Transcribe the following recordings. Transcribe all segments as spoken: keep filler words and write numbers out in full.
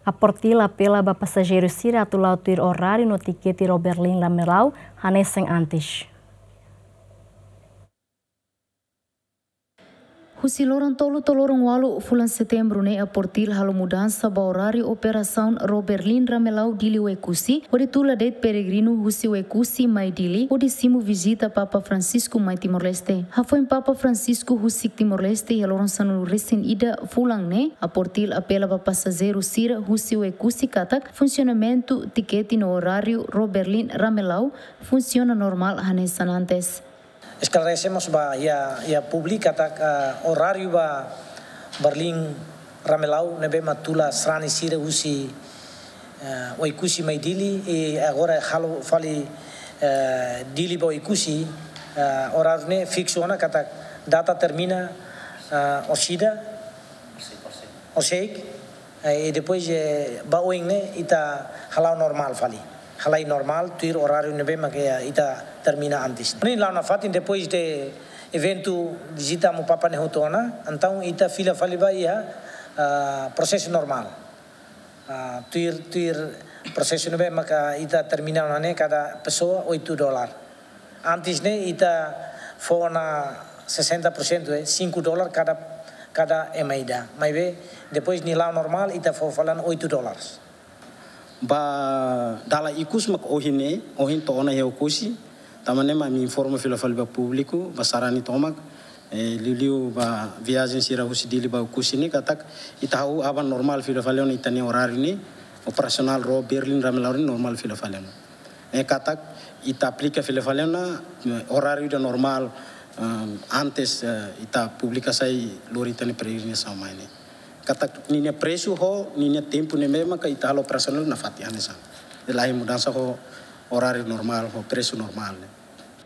APORTIL apela ba pasajeiru sira atu la'o tuir oráriu no tikete Roberlin Ramelau hanesan antes. Husi loron tolu to'o loron ualu fulan Setembru ne'e, APORTIL halo mudansa ba oráriu operasaun Roberlin Ramelau Dili Oekusi, hodi tula de'it peregrinu husi Oekusi mai Dili, hodi simu vizita Papa Francisco mai Timor-Leste. Hafoin Papa Francisco husik Timor-Leste iha loron sanulu resin ida fulan ne'e, APORTIL apela ba pasajeiru sira husi Oekusi katak funsionamentu tikete no oráriu Roberlin Ramelau funsiona normál hanesan antes. Esklarese mós ba iha, iha públiku katak, ah, oráriu ba Roberlin Ramelau ne'ebé mak tula sarani sira husi, ah, Oekusi mai Dili, i agora halo fali, eh, Dili ba Oekusi, ah, oráriu ne'e fiksu ona katak data termina, ah, orsida, orseik, eh, i depois, eh, ba oin ne'e ita hala'o normál fali. Halai normál, tuir oráriu ne'ebé mak, eh, ita termina antes. Ne'e la'o nafatin depois de eventu vizita Amu Papa ne'e hotu ona, entaun ita fila fali ba iha, ah, prosesu normál. Ah, tuir, tuir prosesu ne'ebé maka ita termina ona ne'e kada pesoa oito dólar. Antes ne'e ita fó ona sessenta por cento, eh, cinco dólar kada, kada ema ida. Maibé, depois nia la'o normál, ita fó fali oito dólares. Ba dala ikus mak ohin ne'e, ohin to'o ona iha Oekusi, tanba ne'e mak ami informa fila fali ba públiku, ba sarani tomak, eh, liuliu ba viajen sira husi Dili ba Oekusi ne'e, katak ita hahú aban normál fila fali ona ita-nia oráriu ne'e, operasionál Roberlin Ramelau ne'e normál fila fali ona. Eh, katak ita aplika fila fali ona, eh, oráriu ida normál, eh, antes, eh, ita publika sai lori ita-nia peregrinasaun mai ne'e. Katak ninia presu ho ninia tempu ne'ebé maka ita halo operasionál nafatin hanesan. Laiha mudansa ho oráriu normál, ho presu normál ne'e.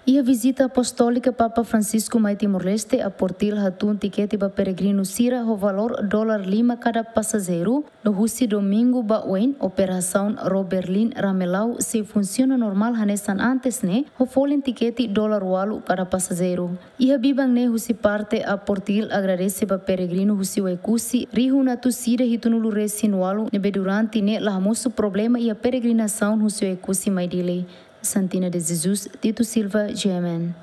Iha vizita apostólika Papa Francisco mai Timor-Leste, APORTIL hatún tikete ba peregrinu sira ho valór dólar lima kada pasajeiru, no husi domingu ba oin, operasaun Roberlin Ramelau sei funsiona normál hanesan antes ne'e, ho folin tikete dólar ualu kada pasajeiru. Iha biban ne'e husi parte APORTIL agradese ba peregrinu husi Oekusi, rihun atus ida hitunulu resin ualu, ne'ebé durante ne'e la hamosu problema iha peregrinasaun husi Oekusi mai Dili. Santina de Jesus, Tito Silva, G M N.